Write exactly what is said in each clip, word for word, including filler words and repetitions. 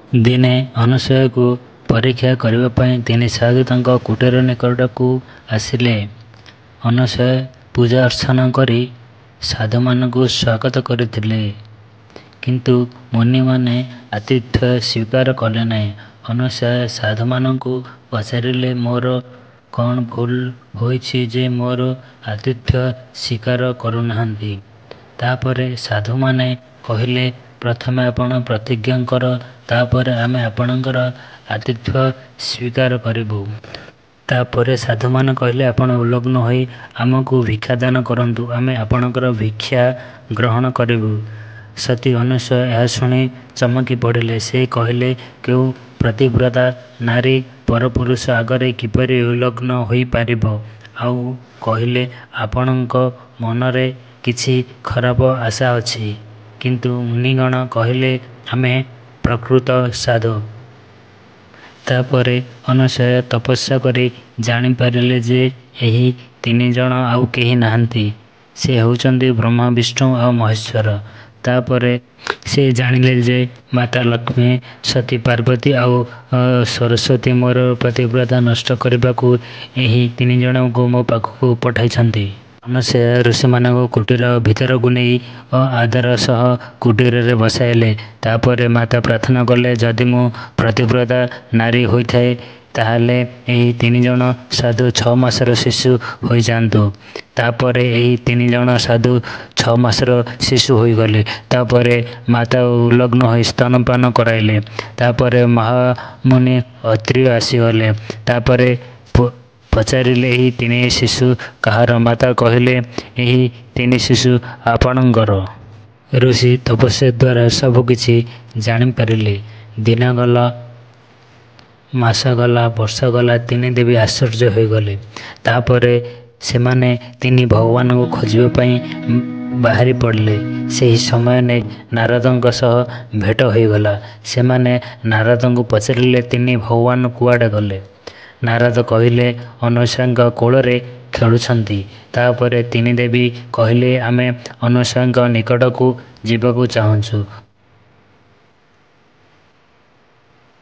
ଦିନେ ଅନସୂୟାଙ୍କୁ ପରୀକ୍ଷା କରିବା ପାଇଁ ତିନି ସାଧୁ ତାଙ୍କ କୁଟୀର ନିକଟକୁ ଆସିଲେ। ଅନସୂୟା ପୂଜା ଅର୍ଚ୍ଚନା କରି ସାଧୁମାନଙ୍କୁ ସ୍ୱାଗତ କରିଥିଲେ। କିନ୍ତୁ ମୁନିମାନେ ଆତିଥ୍ୟ ସ୍ୱୀକାର କଲେ ନାହିଁ। ଅନସୂୟା ସାଧୁମାନଙ୍କୁ ପଚାରିଲେ, ମୋର କ'ଣ ଭୁଲ ହୋଇଛି ଯେ ମୋର ଆତିଥ୍ୟ ସ୍ୱୀକାର କରୁନାହାନ୍ତି? ତା'ପରେ ସାଧୁମାନେ କହିଲେ, ପ୍ରଥମେ ଆପଣ ପ୍ରତିଜ୍ଞା କର, ତା'ପରେ ଆମେ ଆପଣଙ୍କର ଆତିଥ୍ୟ ସ୍ୱୀକାର କରିବୁ। ତା'ପରେ ସାଧୁମାନେ କହିଲେ, ଆପଣ ଉଲଗ୍ନ ହୋଇ ଆମକୁ ଭିକ୍ଷାଦାନ କରନ୍ତୁ, ଆମେ ଆପଣଙ୍କର ଭିକ୍ଷା ଗ୍ରହଣ କରିବୁ। ସତୀ ଅନସୂୟା ଏହା ଶୁଣି ଚମକି ପଡ଼ିଲେ। ସେ କହିଲେ, କେଉଁ ପତିବ୍ରତା ନାରୀ ପରପୁରୁଷ ଆଗରେ କିପରି ଉଲଗ୍ନ ହୋଇପାରିବ? ଆଉ କହିଲେ, ଆପଣଙ୍କ ମନରେ କିଛି ଖରାପ ଆଶା ଅଛି। କିନ୍ତୁ ମୁନିଗଣ କହିଲେ, ଆମେ ପ୍ରକୃତ ସାଧୁ। ତା'ପରେ ଅନସୂୟା ତପସ୍ୟା କରି ଜାଣିପାରିଲେ ଯେ ଏହି ତିନିଜଣ ଆଉ କେହି ନୁହଁନ୍ତି, ସେ ହେଉଛନ୍ତି ବ୍ରହ୍ମା, ବିଷ୍ଣୁ ଆଉ ମହେଶ୍ୱର। ତା'ପରେ ସେ ଜାଣିଲେ ଯେ ମାତା ଲକ୍ଷ୍ମୀ, ସତୀ ପାର୍ବତୀ ଆଉ ସରସ୍ୱତୀ ମୋର ପତିବ୍ରତା ନଷ୍ଟ କରିବାକୁ ଏହି ତିନିଜଣଙ୍କୁ ମୋ ପାଖକୁ ପଠାଇଛନ୍ତି। ଅନସୂୟା ଋଷିମାନଙ୍କୁ କୁଟୀର ଭିତରକୁ ନେଇ ଆଦର ସହ କୁଟୀରରେ ବସାଇଲେ। ତା'ପରେ ମାତା ପ୍ରାର୍ଥନା କଲେ, ଯଦି ମୁଁ ପତିବ୍ରତା ନାରୀ ହୋଇଥାଏ, ତାହେଲେ ଏହି ତିନିଜଣ ସାଧୁ ଛଅ ମାସର ଶିଶୁ ହୋଇଯାଆନ୍ତୁ। ତା'ପରେ ଏହି ତିନିଜଣ ସାଧୁ ଛଅ ମାସର ଶିଶୁ ହୋଇଗଲେ। ତା'ପରେ ମାତା ଉଲଗ୍ନ ହୋଇ ସ୍ତନ୍ୟପାନ କରାଇଲେ। ତା'ପରେ ମହାମୁନି ଅତ୍ରି ଆସିଗଲେ। ତା'ପରେ ପଚାରିଲେ, ଏହି ତିନି ଶିଶୁ କାହାର? ମାତା କହିଲେ, ଏହି ତିନି ଶିଶୁ ଆପଣଙ୍କର। ଋଷି ତପସ୍ୟା ଦ୍ୱାରା ସବୁକିଛି ଜାଣିପାରିଲେ। ଦିନ ଗଲା, ମାସ ଗଲା, ବର୍ଷ ଗଲା, ତିନି ଦେବୀ ଆଶ୍ଚର୍ଯ୍ୟ ହୋଇଗଲେ। ତା'ପରେ ସେମାନେ ତିନି ଭଗବାନଙ୍କୁ ଖୋଜିବା ପାଇଁ ବାହାରି ପଡ଼ିଲେ। ସେହି ସମୟରେ ନାରଦଙ୍କ ସହ ଭେଟ ହୋଇଗଲା। ସେମାନେ ନାରଦଙ୍କୁ ପଚାରିଲେ, ତିନି ଭଗବାନ କୁଆଡ଼େ ଗଲେ? ନାରଦ କହିଲେ, ଅନସୂୟାଙ୍କ କୋଳରେ ଖେଳୁଛନ୍ତି। ତା'ପରେ ତିନି ଦେବୀ କହିଲେ, ଆମେ ଅନସୂୟାଙ୍କ ନିକଟକୁ ଯିବାକୁ ଚାହୁଁଛୁ।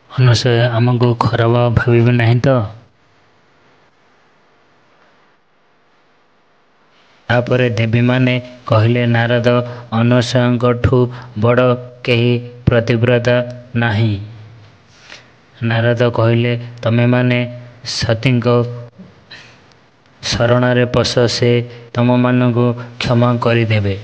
ଅନସୂୟା ଆମକୁ ଖରାପ ଭାବିବେ ନାହିଁ ତ? ତା'ପରେ ଦେବୀମାନେ କହିଲେ, ନାରଦ, ଅନସୂୟାଙ୍କଠୁ ବଡ଼ କେହି ପତିବ୍ରତା ନାହିଁ। ନାରଦ କହିଲେ, ତମେମାନେ ସତୀଙ୍କ ଶରଣରେ ପଶ, ସେ ତମମାନଙ୍କୁ କ୍ଷମା କରିଦେବେ।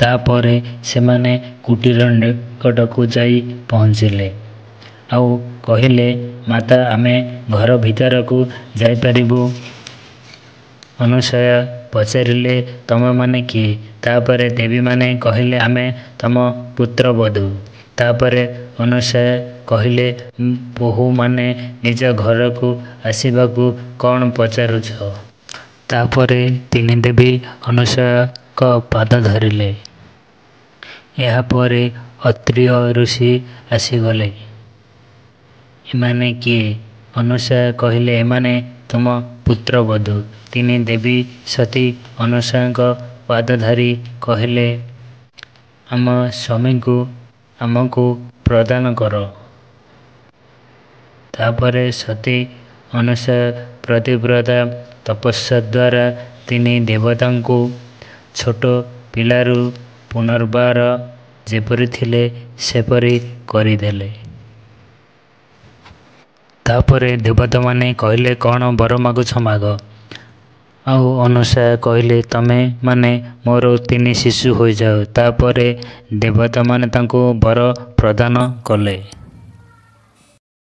ତା'ପରେ ସେମାନେ କୁଟୀର ନିକଟକୁ ଯାଇ ପହଞ୍ଚିଲେ। ଆଉ କହିଲେ, ମାତା, ଆମେ ଘର ଭିତରକୁ ଯାଇପାରିବୁ? ଅନସୂୟା ପଚାରିଲେ, ତମେମାନେ କିଏ? ତା'ପରେ ଦେବୀମାନେ କହିଲେ, ଆମେ ତମ ପୁତ୍ରବଧୂ। ତା'ପରେ ଅନସୂୟା କହିଲେ, ବୋହୂମାନେ ନିଜ ଘରକୁ ଆସିବାକୁ କ'ଣ ପଚାରୁଛ? ତା'ପରେ ତିନି ଦେବୀ ଅନସୂୟାଙ୍କ ପାଦ ଧରିଲେ। ଏହାପରେ ଅତ୍ରି ଋଷି ଆସିଗଲେ। ଏମାନେ କିଏ? ଅନସୂୟା କହିଲେ, ଏମାନେ ତୁମ ପୁତ୍ରବଧୂ। ତିନି ଦେବୀ ସତୀ ଅନସୂୟାଙ୍କ ପାଦ ଧରି କହିଲେ, ଆମ ସ୍ୱାମୀଙ୍କୁ ଆମକୁ ପ୍ରଦାନ କର। ତା'ପରେ ସତୀ ଅନସୂୟା ପତିବ୍ରତା ତପସ୍ୟା ଦ୍ୱାରା ତିନି ଦେବତାଙ୍କୁ ଛୋଟ ପିଲାରୁ ପୁନର୍ବାର ଯେପରି ଥିଲେ ସେପରି କରିଦେଲେ। ତା'ପରେ ଦେବତାମାନେ କହିଲେ, କ'ଣ ବର ମାଗୁଛ ମାଗ? ଆଉ ଅନସୂୟା କହିଲେ, ତମେମାନେ ମୋର ତିନି ଶିଶୁ ହୋଇଯାଅ। ତା'ପରେ ଦେବତାମାନେ ତାଙ୍କୁ ବର ପ୍ରଦାନ କଲେ।